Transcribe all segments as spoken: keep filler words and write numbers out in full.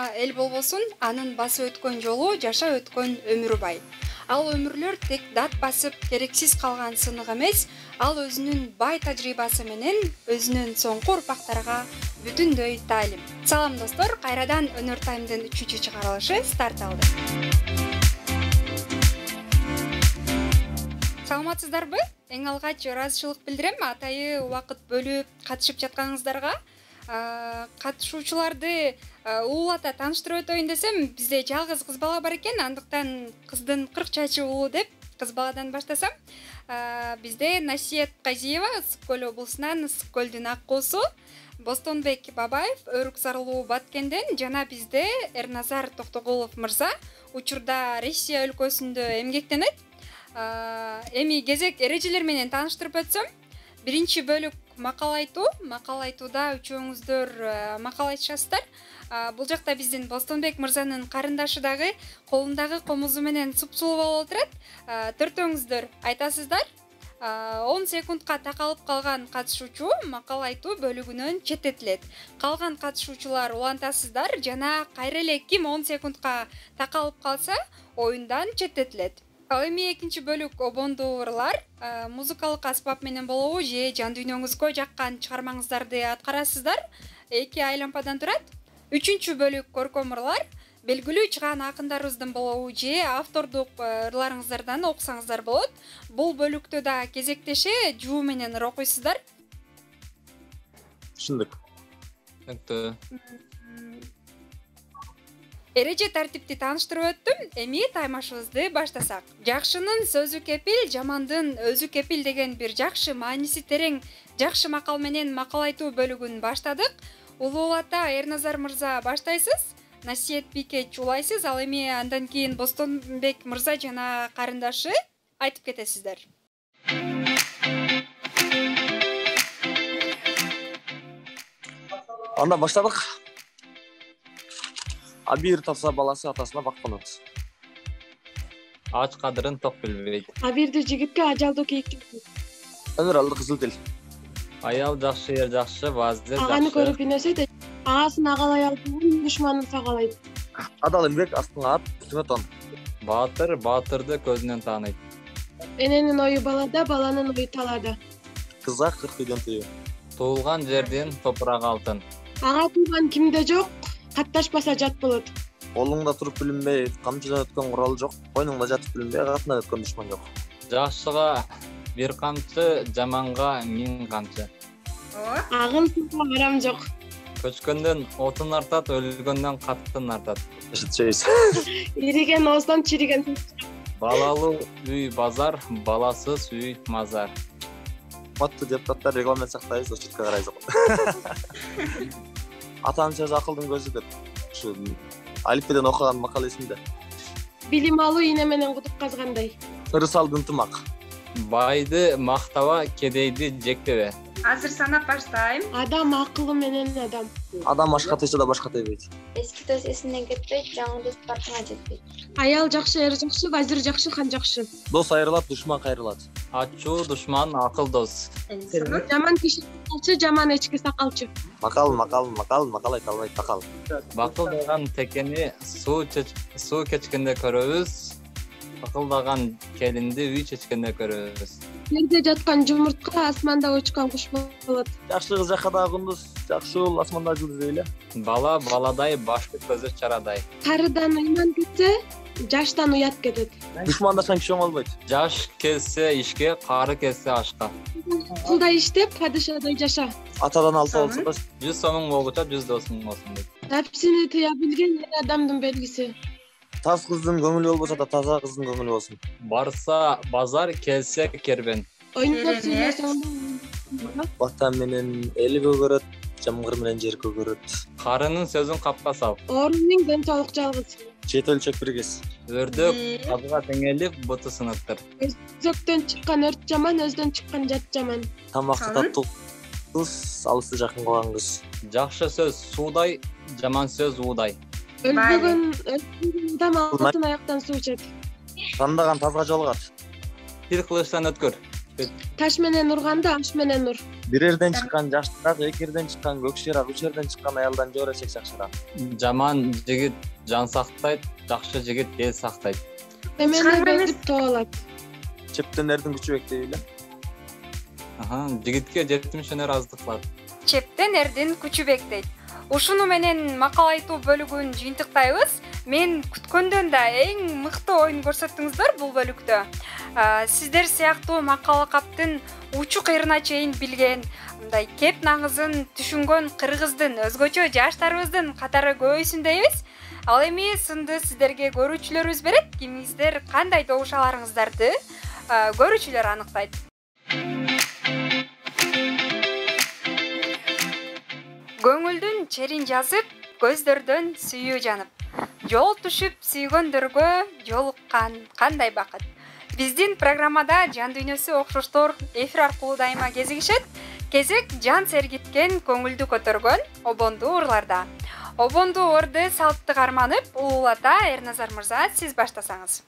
гана эл болбосун, анын басып өткөн жолу, жашап өткөн өмүрү бай. Ал өмүрлөр тек дат басып керексиз калган сынык эмес, ал өзүнүн бай тажрыйбасы менен өзүнүн соңку урпактарга бүтүндөй таалим. Салам достор, кайрадан Өнөр Таймдын үчүнчү чыгарылышы старт алды. Саламатсыздарбы? Эң алгач ыраазычылык билдирем атайы убакыт бөлүп катышып жатканыңыздарга. Катышуучуларды улуулата тааныштырып өтөйүн десем, бизде жалгыз кыз бала бар экен, андыктан кыздын кырк чачы улуу деп кыз баладан баштасам. Бизде Насиет Казиева, Ысык Көл облусунан Ысык Көлдүн ак куусу, Бостонбек Бабаев, Өрүк Сарылуу Баткенден жана бизде Эрназар Токтогулов мырза учурда Россия өлкөсүндө эмгектенет. Эми кезек эрежелер менен тааныштырып өтсөм, биринчи бөлүк макал айтуу. Макал айтууда үчөөңүздөр макал айтышасыздар. Бул жакта биздин Бостонбек мырзанын карындашы дагы колундагы комузу менен супсулуу болуп отурат. Төртөөңүздөр айтасыздар. он секундка такалып калган катышуучу макал айтуу бөлүгүнөн четтетилет. Калган катышуучулар улантасыздар жана кайра эле ким он секундка такалып калса, оюндан четтетилет. Ал эми экинчи бөлүк обондуу ырлар, музыкалык аспап менен болобу же жан дүйнөңүзгө жаккан чыгармаңыздарды аткарасыздар. Эки айлампадан турат. Үчүнчү бөлүк көркөм ырлар, белгилүү чыгаан акындарыбыздын болобу же автордук ырларыңыздардан окусаңыздар болот. Бул бөлүктө да кезектеше жуу менен ыр окуйсуздар. Түшүндүк. Түшүндүк. Эреже тартипти тааныштырып өттүм. Эми таймашыбызды баштасак. Жакшынын сөзү кепил, жамандын өзү кепил деген бир жакшы мааниси терең жакшы макал менен макал айтуу бөлүгүн баштадык. Улуулата Эрназар мырза баштайсыз, Насиет бике чуулайсыз, ал эми андан кийин Бостонбек мырза жана карындашы айтып кетесиздер. Анда баштадык. Абир тапса баласы атасына бакпанат. Ач кадырын ток билбейт. Абирди жигитке ажалдуу кейикке. Өмүр алды кызыл тел. Аял жакшы, ер жакшы, вазир жакшы. Аганы көрүп инесет, агасын агалай албаган душманын сагалайт. Адал эмгек астыңа ат, үстүңө тон. Баатыр баатырды көзүнөн тааныйт. Эненин ою балада, баланын ою талада. Кызга кырк үйдөн тыйы. Туулган жердин топурагы алтын. Ага тууган кимде жок, катташпаса жат болот. Колуңда туруп билинбей, камчыдан өткөн курал жок. Койнуңда жатып билинбей, катынан өткөн душман жок. Жакшыга бир камчы, жаманга миң камчы. Агын суга арам жок. Көчкөндөн отун артат, өлгөндөн каттын артат. Эшитчейсиз. Ириген ооздан чириген. Балалуу үй базар, баласыз үй мазар. Маттуу депутаттар регламент сактайбыз, четке карайбыз. Атанын сөзү акылдын көзү деп. Ушу алифбеден окуган макал эсимде. Билим алуу ийне менен кудук казгандай. Ырысалды ынтымак. Байды мактаба, кедейди жектебе. Азыр санап баштайм. Адам акылы менен адам. Адам ашка тийсе да башка тийбейт. Эски дос эсинден кетпейт, жаңы дос бартыңа жетпейт. Аял жакшы, эр жакшы, вазир жакшы, хан жакшы. Дос айрылат, душман кайрылат. Ачуу душман акыл дос. Жаман киши сакалчы, жаман эчки сакалчы. Макал, макал, макал, макал айта албайт такал. Бакылдаган текени суу суу кечкенде көрөбүз. Бакылдаган келинди үй чечкенде көрөбүз. Жерде жаткан жумуртка, асманда учкан куш болот. Жакшы кыз жакада күндүз, жакшы уул асманда жылдыз эле. Бала баладай, башкы көзү чарадай. Карыдан ыйман кетсе, жаштан уят кетет. Душмандашкан киши оңолбойт. Жаш келсе ишке, кары келсе ашка. Кулдай иштеп, падышадай жаша. Атадан алса болсо да жүз сомуң болгуча жүз досуң болсун дейт. Нәпсини тыя билген эр адамдын белгиси. Таз кыздын көңүлү болбосо да таза кыздын көңүлү болсун. Барса базар, келсе кербен. Ойноп сүйлөсөң Ватан менен эл көгөрөт, жамгыр менен жер көгөрөт. Карынын сөзүн капка сал. Орунун ден соолук жалгыз. Чет өлчөк биргес. Өрдөк тазга теңелип, буту сыныктыр. Өзөктөн чыккан өрт жаман, өздөн чыккан жат жаман. Тамакты таттуу кыз, алысты жакын кылган кыз. Жакшы сөз суудай, жаман сөз уудай. Өлбөгөн адам алтын аяктан суу ичет. Тандаган тазга жолугат. Тил кылычтан өткөр. Таш менен урганда аш менен ур. Бир жерден чыккан жаштыраак, эки жерден чыккан көкширак, үч жерден чыккан аялдан жора эсек жакшыраак. Жаман жигит жан сактайт, жакшы жигит эл сактайт. Эмени бекитип тоолот. Чептенердин күчү бек дейли. Аха, жигитке жетимиш аздык кылат. Чептен эрдин күчү бек дейт. Ушуну менен макал айтуу бөлүгүн жыйынтыктайбыз. Мен күткөндөн да эң мыкты оюн көрсөттүңүздөр бул бөлүктө. Сиздер сыяктуу макал каптын учу кыйрына чейин билген, мындай кеп наңызын түшүнгөн кыргыздын өзгөчө жаштарыбыздын катары көбөйсүн дейбиз. Ал эми сынды сиздерге көрүүчүлөрүбүз берет. Кимиңиздер кандай добушаларыңыздарды көрүүчүлөр аныктайт. Көңүлдүн черин жазып, көздөрдөн сүйүү жанып. Жол түшүп сүйгөндөргө жолуккан кандай бакыт. Биздин программада жан дүйнөсү окшоштор эфир аркылуу дайыма кезигишет. Кезек жан сергиткен, көңүлдү көтөргөн обондуу урларда. Обондуу урду салтты карманып, улуулата Эрназар мырза, сиз баштасаңыз.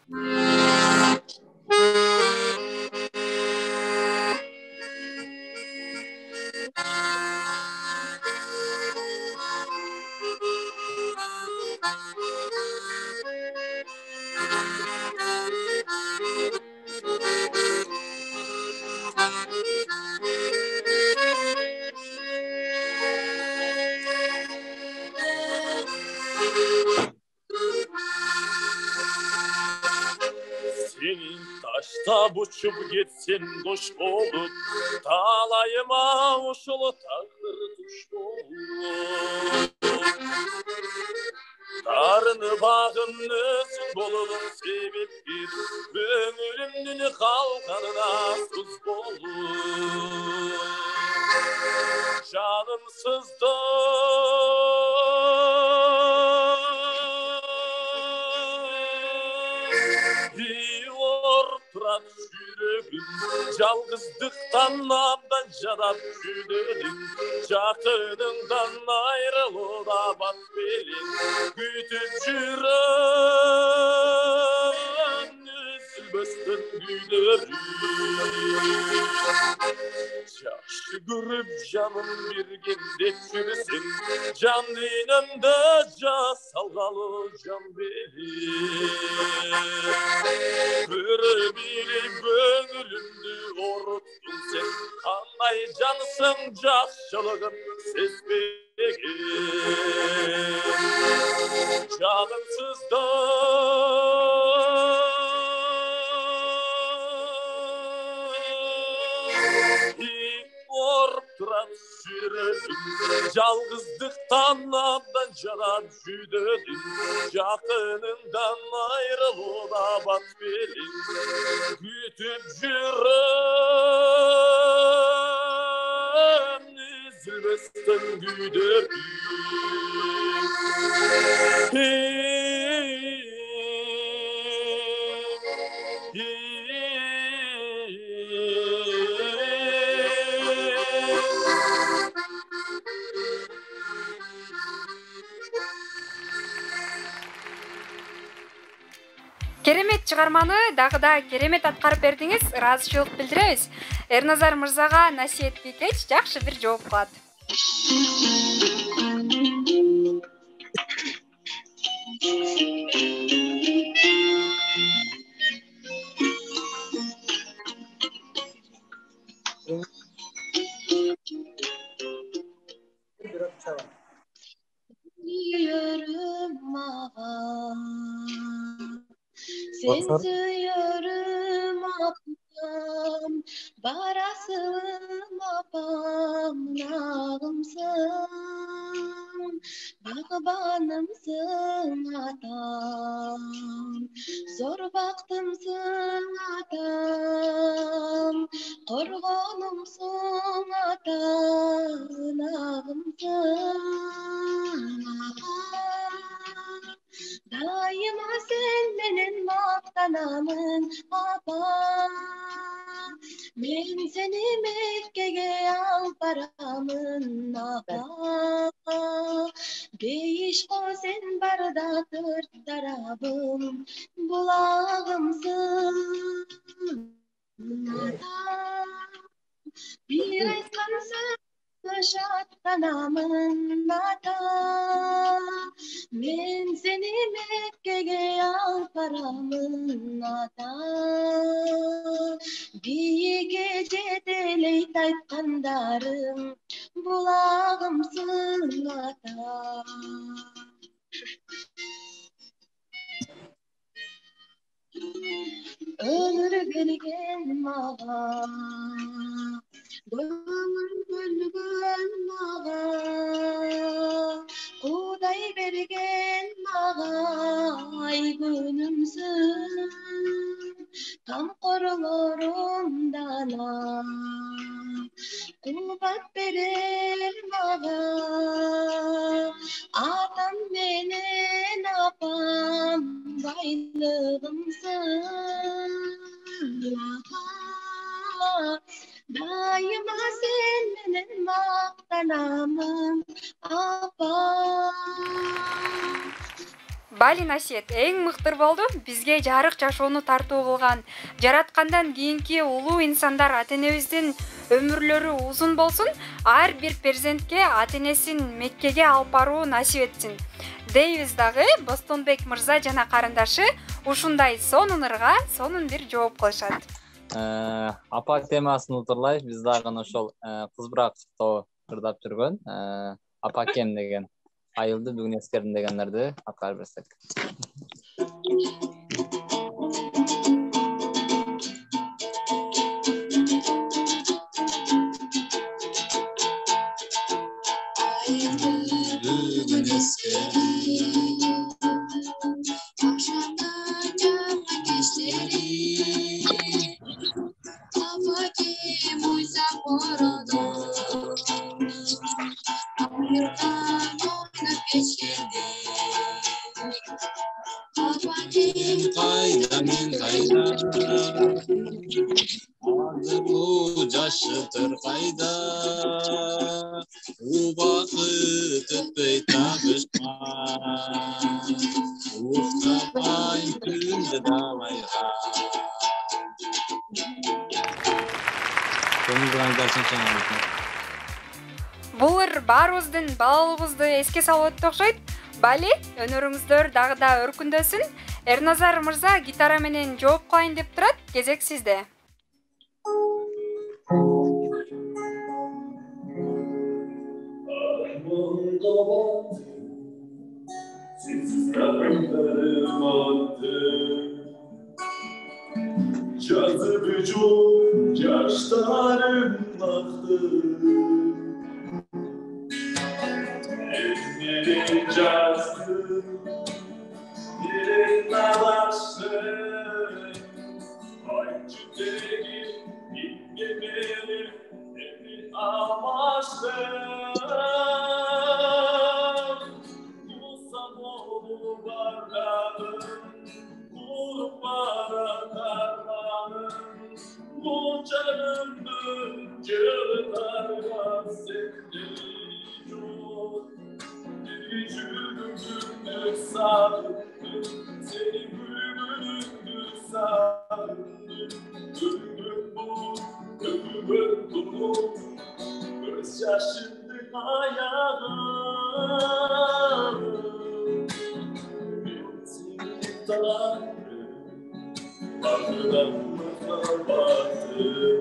Таштап учуп кетсем кош болуп, талайыма ушул тагдыр туш болуп. Тарыныбагым өзүң болгон себепкер, көңүлүмдүн калганына туз болуп. Жаным сызды Турат жүрөгүм, жалгыздыктан абдан жадап жүрдүм. Жакыныңдан айрылууда бат белең, күтүп жүрөм үзүлбөстөн күйдөрүм. Жакшы көрүп жаным берген деп жүрсең, жан дүйнөмдө жасалгалы жан белең. Көрө билип көңүлүмдү оруттун сен, кандай жансың жакшылыгын сезбеген. Жаным сызды турат жүрөгүм, жалгыздыктан абдан жадап жүрдүм. Жакыныңдан айрылууда бат белең, күтүп жүрөм үзүлбөстөн күйдөрүм. Керемет чыгарманы дагы да керемет аткарып бердиңиз. Ыраазычылык билдиребиз. Эрназар мырзага Насиет Бикеч жакшы бир жооп кылат. Sen suyarım apam, barasım apam, nağımsın, bağbanımsın atam, zor baktımsın atam, korgonumsun atam, nağımsın atam. Daima sen menen maktanamın apa. Men seni Mekke'ge al paramın apa. Beyiş o sen barda tört tarafım bulağımsın apa. Bir aytkansın şatlanamın ata. Men seni Mekke'ge alıp baramın ata. Biyige jedeleyt aytkandarım bulağımsın ata. Ömür bergen mağa, doyumur bölgön mağa, Kuday bergen mağa, ay günümsün, tam korulorumdan a. Kubat berer mağa, atam menen apam, baylığımsın. Daima sen menen maqtanamın apam. Бали Насиет эң мыктыр болду. Бизге жарык жашоону тартуу кылган, жараткандан кийинки улуу инсандар ата-энебиздин өмүрлөрү узун болсун. Ар бир перзентке ата-энесин Меккеге алып баруу насип этсин. Дейбиз дагы Бостонбек мырза жана карындашы ушундай сонун ырга сонун бир жооп кылышат. Апа темасын утурлайбыз. Биз дагы ошол кыз бырактоо ырдап жүргөн апакем деген айылды бүгүн эскердим дегендерди аткарып берсек. Бүгүн эскердим акшамдан жаган кечтери апакем уйсак бородо айырдан ойнап кечкенде апакем кайда мен кайда азыр бул жашытыр кайда убакыт өтпөй табышкан уктабайм күндү далайга Бул ыр баарыбыздын балалыгыбызды эске салып өттү окшойт. Бали, өнөрүңүздөр дагы да өркүндөсүн. Эрназар мырза гитара менен жооп кылайын деп турат. Кезек сизде. Жазып жүр жаштарым ақты Эмнени жаздым Берек алашым Айтчы деген Имге менен Эмни алмаштым Тусам болуп барадым Куруп баратарманым Бул жанымды жылытарган сендей жок Бир жүргүмдү сагындым Сени күлгүнүңдү сагындым Өмүр бул, өмүр бул Көз жашымдын аягы Мен сени таныдым Багыдан махаббатым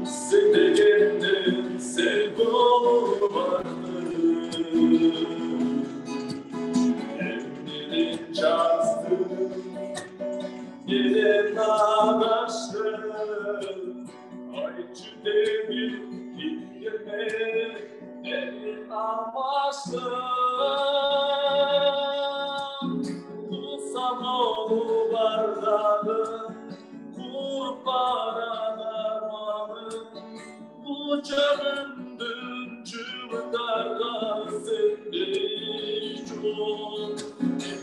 Sen degenden sen bulmadın Emnini çazdın Gelen ağaçtın Ayçı demir Gitme Elin amaçtın Kusam oğlu bardağın Kurbaran armanın Bu canımdın çığlıklardan sendey çok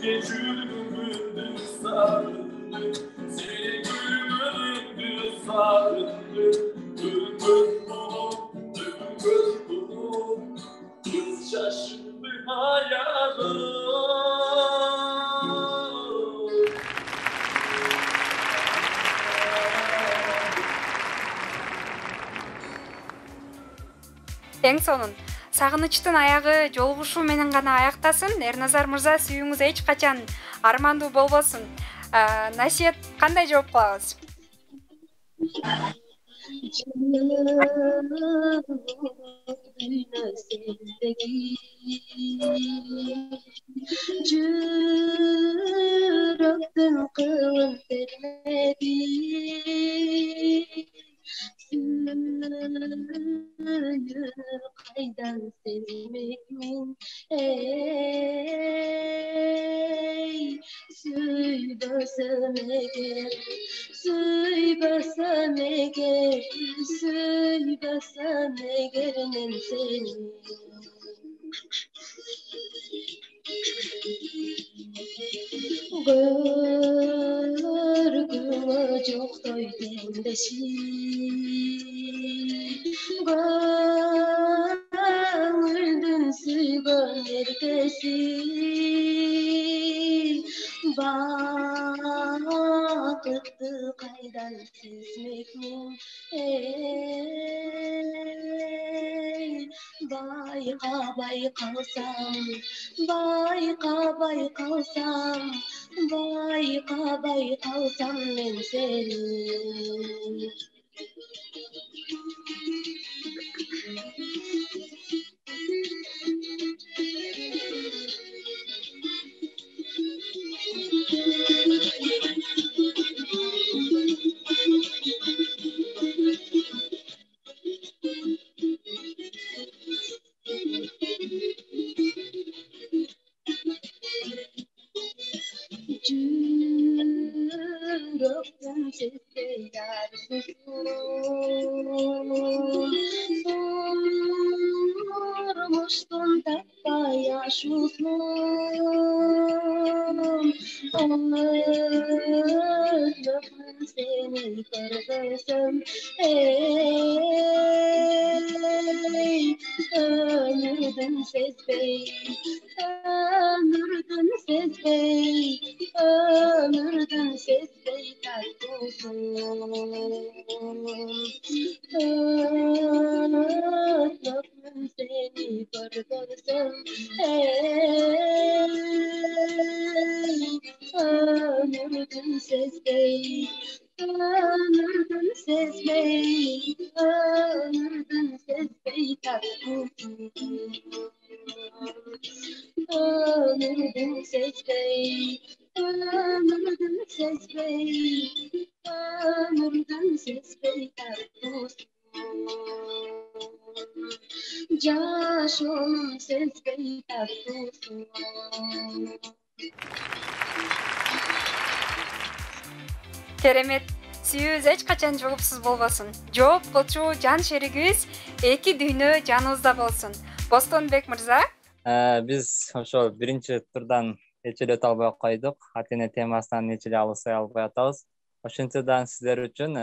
Bir gülümündür sarındır Seni gülümündür sarındır Ömür bulun, ömür bulun Kız şaşırdı hayalım Эң сонун сагынычтын аягы жолугушуу менен гана аяктасын. Эрназар мырза, сүйүүңүз эч качан армандуу болбосун. Насиет кандай жооп кылабыз? Жүрөктүн кылын термеди, сүйүүнү кайдан сезмекмин, эй, сүйбөсөм эгер, сүйбөсөм эгер, сүйбөсөм эгер мен сени. Көргүңө жоктой теңдеши, көңүлдүн сүйгөн эркеси, бакытты кайдан сезмекмин, эй, байкабай калсам, байкабай калсам, байкабай калсам мен сени. Жүрөктүн сезбей арзусын, турмуштун таппай ашуусун, өзүмдүн сени көрбөсөм, эй, өмүрдүн сезбей, өмүрдүн сезбей, өмүрдүн сезбей тартуусун, өзүмдүн сени көрбөсөм, эй, өмүрдүн сезбей, өмүрдүн сезбей, өмүрдүн сезбей тартуусун, өмүрдүн сезбей, өмүрдүн сезбей, өмүрдүн сезбей тартуусун, жашоонун сезбей тартуусун. Керемет. Сүйүүбүз эч качан жоопсуз болбосун. Жооп кылчу жан шеригибиз эки дүйнө жаныбызда болсун. Бостонбек мырза, биз ошол биринчи турдан эч эле өтө албай койдук. Ата-эне темасынан эч эле алыса албай атабыз. Ошентүүдөн сиздер үчүн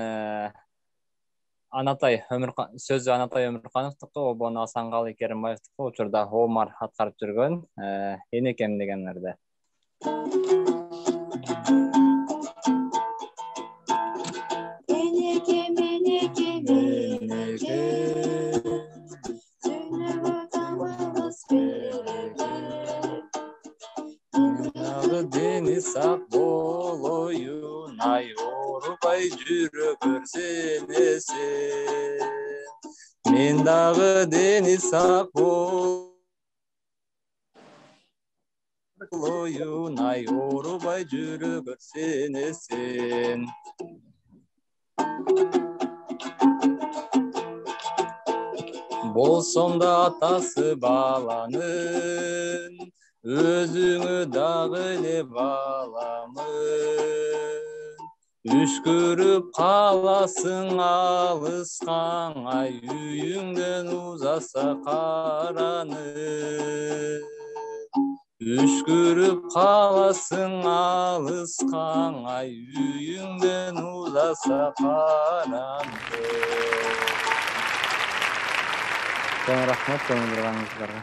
Анатай Өмүркан сөзү Анатай Өмүркановдуку, обону Асангалы Керимбаевдуку, учурда Омар аткарып жүргөн Энекем дегендерде. Eneke meneke meneke, sünüğü tamamız bereke. Дагы дени сак болоюн, ай оорубай жүрө көрсенесен. Мен дагы дени сак болоюн, ай оорубай жүрө көрсенесен. Болсом да атасы баланын, өзүңө дагы эле баламын. Үшкүрүп каласың алыскан, ай үйүңдөн узаса караны. Үшкүрүп каласың алыскан, ай үйүңдөн узаса караны. Чоң рахмат көңүл бурганыңыздарга.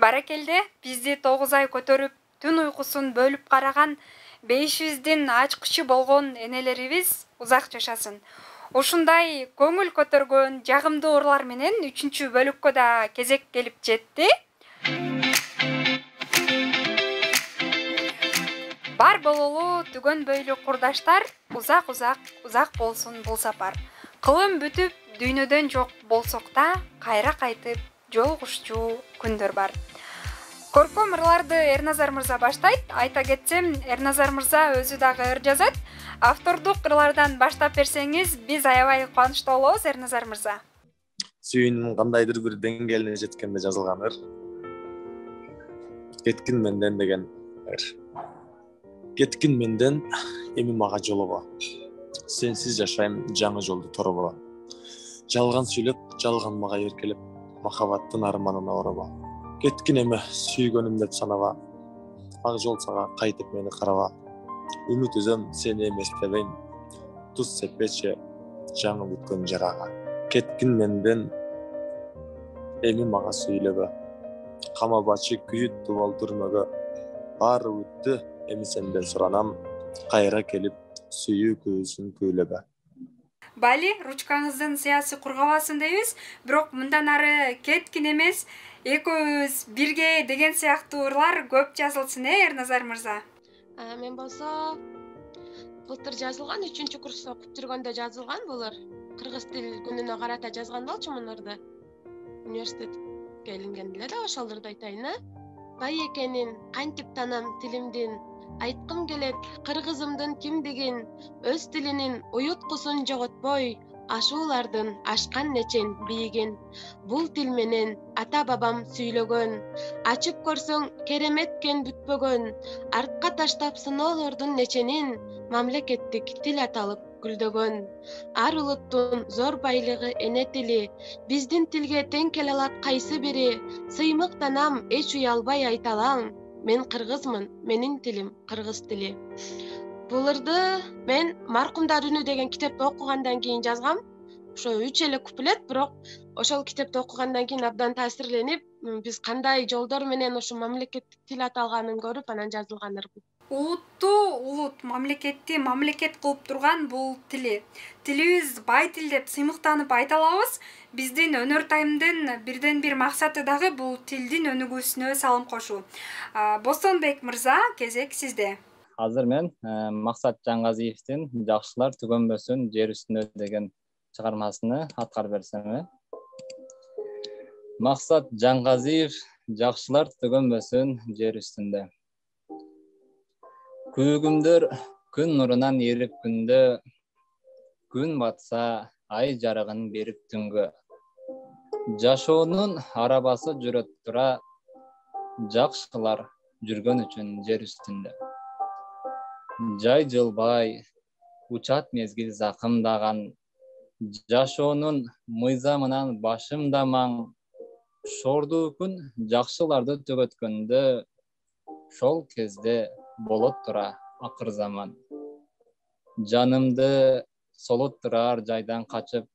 баракелде. Бизди тогуз ай көтөрүп, түн уйкусун бөлүп караган беш жүздүн ачкычы болгон энелерибиз узак жашасын. Ушундай көңүл көтөргөн жагымдуу ырлар менен үчүнчү бөлүккө да кезек келип жетти. Бар бололу түгөн бөйлүү курдаштар, узак узак узак болсун бул сапар. Кылым бүтүп дүйнөдөн жок болсок да, кайра кайтып жолугушчу күндөр бар. Көркөм ырларды Эрназар мырза баштайт. Айта кетсем, Эрназар мырза өзү дагы ыр жазат. Автордук ырлардан баштап берсеңиз, биз аябай кубанычтуу болобуз, Эрназар мырза. Сүйүүнүн кандайдыр бир деңгээлине жеткенде жазылган ыр. Кеткин менден деген ыр. Кеткин менден, эми мага жолого. Сенсиз жашайм жаңы жолду торобо. Жалган сүйлөп, жалган мага эркелеп, махабаттын арманына ороба. Кеткин эми сүйгөнүм деп санаба. Ак жол сага кайтып мени караба. Үмүт үзөм сени эместебейм. Туз сеппечи жаңы бүткөн жарага. Кеткин менден, эми мага сүйлөбө. Камабачы күйүт тубал түрмөгө. Баары өттү, эми сенден суранам. Кайра келип сүйүү көзүн күйлөбө. Бали, ручкаңыздын сыясы кургабасын дейбиз, бирок мындан ары кеткин эмес, экөөбүз бирге деген сыяктуу ырлар көп жазылсын, э, Эрназар мырза. Мен болсо былтыр жазылган, үчүнчү курста окуп жүргөндө жазылган бул ыр. Кыргыз тил күнүнө карата жазган болчумун ырды. Университетке илингенде эле да ошол ырды айтайын, э. Бай экенин кантип танам тилимдин, айткым келет кыргызымдын кимдигин, өз тилинин уюткусун жоготпой, ашуулардын ашкан нечен бийигин. Бул тил менен ата бабам сүйлөгөн, ачып көрсөң кереметкен бүтпөгөн, артка таштап сыноолордун неченин, мамлекеттик тил аталып гүлдөгөн. Ар улуттун зор байлыгы эне тили, биздин тилге тең келе алат кайсы бири, сыймыктанам эч уялбай айта алам. Мен кыргызмын, менин тилим кыргыз тили. Бул ырды мен Маркумдар үнү деген китепти окугандан кийин жазгам. Ошо үч эле куплет, бирок ошол китепти окугандан кийин абдан таасирленип, биз кандай жолдор менен ушу мамлекеттик тил аталганын көрүп, анан жазылган ыр. Улутту улут, мамлекетти мамлекет кылып турган бул тили. Тилибиз бай тил деп сыймыктанып айта алабыз. Биздин өнөр тайымдын бирден бир максаты дагы бул тилдин өнүгүүсүнө салым кошуу. Бостонбек мырза, кезек сизде. Азыр мен Максат Жаңгазиевдин «Жакшылар түгөнбөсүн жер үстүндө» деген чыгармасыны аткарып берсем, э. Максат Жаңгазиев «Жакшылар түгөнбөсүн жер үстүндө». Күйгүмдөр күн нурунан эрип күндө, күн батса ай жарыгын берип түнгө. Жашоонун арабасы жүрөт тура, жакшылар жүргөн үчүн жер үстүндө. Жай жылбай, учат мезгил закымдаган, жашоонун мыйзамынан башымдамаң, шордуу күн жакшыларды төгөткөндө, шол кезде болот тура акыр заман. Жанымды солоттурар жайдан качып,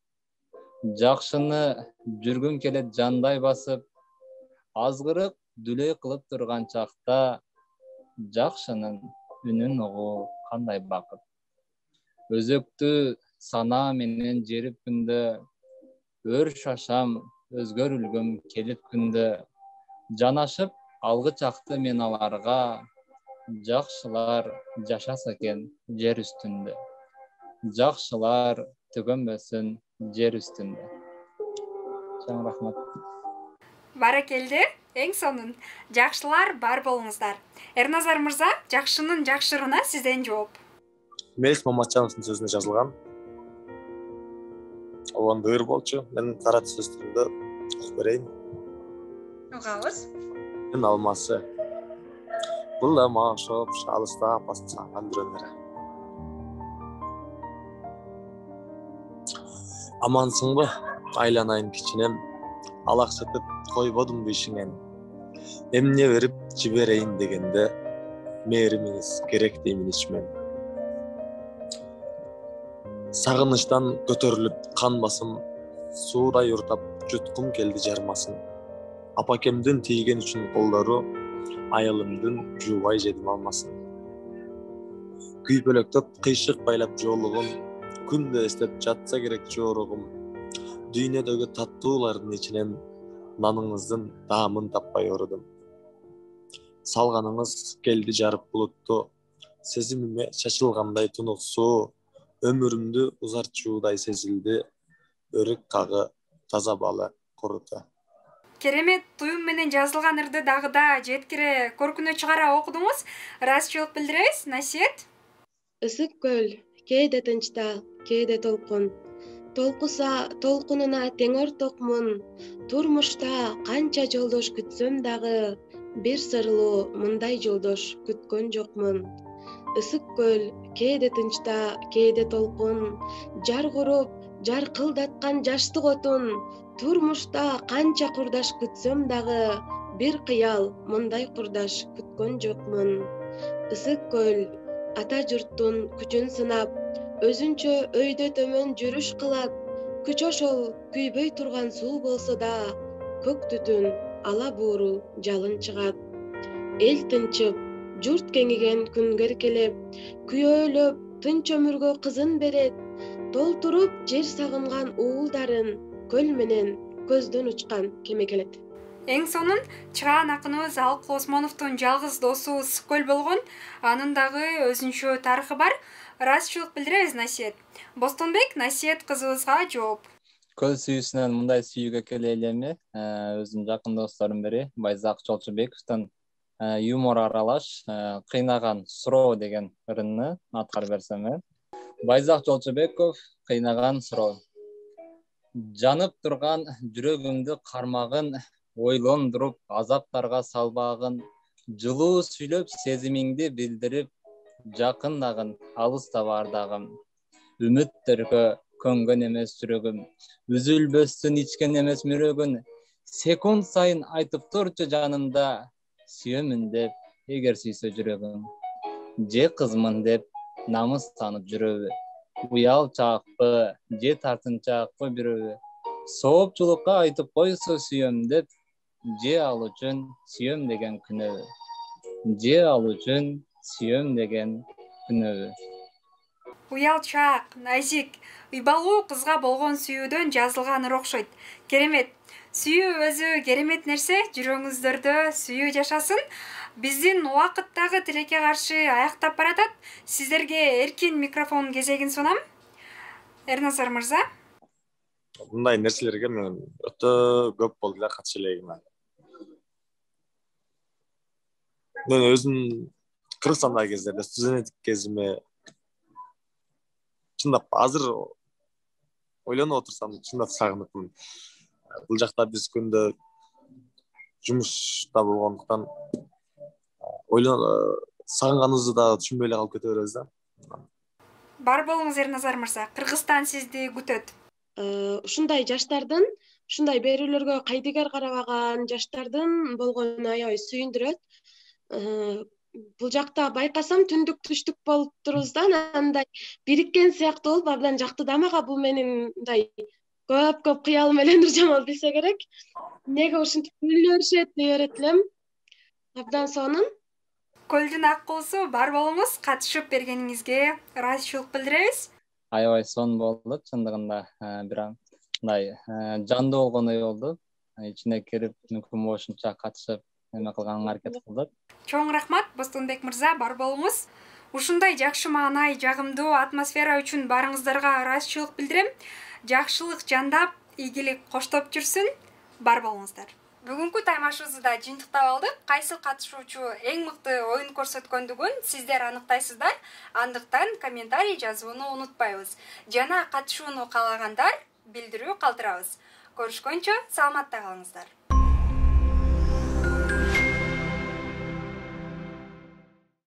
жакшыны жүргүм келет жандай басып, азгырык дүлөй кылып турган чакта, жакшынын үнүн угуу кандай бакыт. Өзөктү санаа менен жерип күндө, өр шашам өзгөрүлгүм келип күндө, жанашып алгы чакты мен аларга, жакшылар жашаса экен жер үстүндө. Жакшылар түгөнбөсүн жер үстүндө. Чоң рахмат. Баракелде, эң сонун. Жакшылар бар болуңуздар. Эрназар мырза, жакшынын жакшырына сизден жооп. Мелис Маматжановдун сөзүнө жазылган. Оонда ыр болчу. Мен кара сөз түрүндө окуп берейин. Угабыз. Мен алмасы. Бул да мага окшоп, алыста бассаган бирөөлөр. Амансыңбы? Айланайын кичинем. Алаксытып койбодумбу ишиңен. Эмне берип жиберейин дегенде, мээримиңиз керек деймин ичмен. Сагынычтан көтөрүлүп кан басым, суудай уртап жуткум келди жармасын. Апакемдин тийген үчүн колдору, айылымдын жуубай жедим алмасын. Күйпөлөктөп кыйшык байлап жоолугун, күндө эстеп жатса керек жоругум. Дүйнөдөгү таттуулардын ичинен наныңыздын даамын таппай орудум. Салганыңыз келди жарып булутту, сезимиме чачылгандай тунук суу, өмүрүмдү узартчуудай сезилди, өрүк кагы таза балы куруту. Керемет туюм менен жазылган ырды дагы да жеткире көркүнө чыгара окудуңуз. Ыраазычылык билдиребиз. Насиет. Ысык көл, кээде тынчтал, кээде толкун. Толкуса толкунуна тең ортокмун. Турмушта канча жолдош күтсөм дагы, бир сырлуу мындай жолдош күткөн жокмун. Ысык көл, кээде тынчта, кээде толкун. Жар куруп, жар кылдаткан жаштык отун. Турмушта канча курдаш күтсөм дагы, бир кыял мындай курдаш күткөн жокмун. Ысык көл, ата журттун күчүн сынап, өзүнчө өйдө төмөн жүрүш кылат. Күч ошол күйбөй турган суу болсо да, көк түтүн ала буурул жалын чыгат. Эл тынчып, журт кеңиген күнгө эркелеп, күйөөлөп тынч өмүргө кызын берет. Толтуруп жер сагынган уулдарын, көл менен көздөн учкан кеме келет. Эң сонун чыгаан акыныбыз Алык Осмоновдун жалгыз досу Ысык көл болгон. Анын дагы өзүнчө тарыхы бар. Ыраазычылык билдиребиз. Насиет. Бостонбек Насиет кызыбызга жооп. Көл сүйүүсүнөн мындай сүйүүгө келе элеми өзүмдүн жакын досторумдун бири Байзак Жолчубековдун юмор аралаш кыйнаган суроо деген ырынны аткарып берсем. Байзак Жолчубеков кыйнаган суроо. Жанып турган жүрөгүмдү кармагын, ойлондуруп азаптарга салбагын, жылуу сүйлөп сезимиңди билдирип, жакындагын алыста бардагым. Үмүттөргө көнгөн эмес жүрөгүм, үзүлбөстөн ичкен эмес мүрөгүн, секунд сайын айтып турчу жанымда, сүйөмүн деп эгер сүйсө жүрөгүм. Же кызмын деп намыстанып жүрөбү, уялчаакпы, же тартынчаакпы бирөбү, соопчулукка айтып койсо сүйөм деп, же ал үчүн сүйөм деген күнөбү, же ал үчүн сүйөм деген күнөбү. Уялчаак, назик, уйбалуу кызга болгон сүйүүдөн жазылган ыр окшойт. Керемет. Сүйүү өзү керемет нерсе, жүрөгүңүздөрдө сүйүү жашасын. Биздин убакыттагы тилекке каршы аяктап баратат. Сиздерге эркин микрофон кезегин сунам. Эрназар мырза. Мындай нерселерге мен өтө көп болду эле катыша элегим. Мен өзүм Кыргызстандагы кездерде студенттик кезиме чындап азыр ойлонуп отурсам чындап сагыныпмын. Бул жакта биз күндө жумушта болгондуктан ойлон сагынганыбызды да түшүнбөй эле калып кете беребиз да. Бар болуңуз Эрназар мырза. Кыргызстан сизди күтөт. Ушундай жаштардын, ушундай берүүлөргө кайдыгер карабаган жаштардын болгону аябай сүйүндүрөт. Бул жакта байкасам түндүк түштүк болуп турубуз да, андай бириккен сыяктуу болуп, абдан жакты да мага. Бул менин мындай көп-көп кыялым эле Нуржамал билсе керек. Неге ушинтип күлө беришет дей берет элем. Абдан сонун. Көлдүн ак куусу бар болуңуз, катышып бергениңизге ыраазычылык билдиребиз. Аябай сонун болду чындыгында, бирок мындай жандуу болгондой болду. Ичине кирип мүмкүн болушунча катышып эме кылганга аракет кылдык. Чоң рахмат Бостонбек мырза, бар болуңуз. Ушундай жакшы маанай, жагымдуу атмосфера үчүн барыңыздарга ыраазычылык билдирем. Жакшылык жандап, ийгилик коштоп жүрсүн. Бар болуңуздар. Бүгүнкү таймашыбызды да жыйынтыктап алдык. Кайсы катышуучу эң мыкты оюн көрсөткөндүгүн сиздер аныктайсыздар. Андыктан комментарий жазууну унутпайбыз. Жана катышууну каалагандар билдирүү калтырабыз. Көрүшкөнчө саламатта калыңыздар.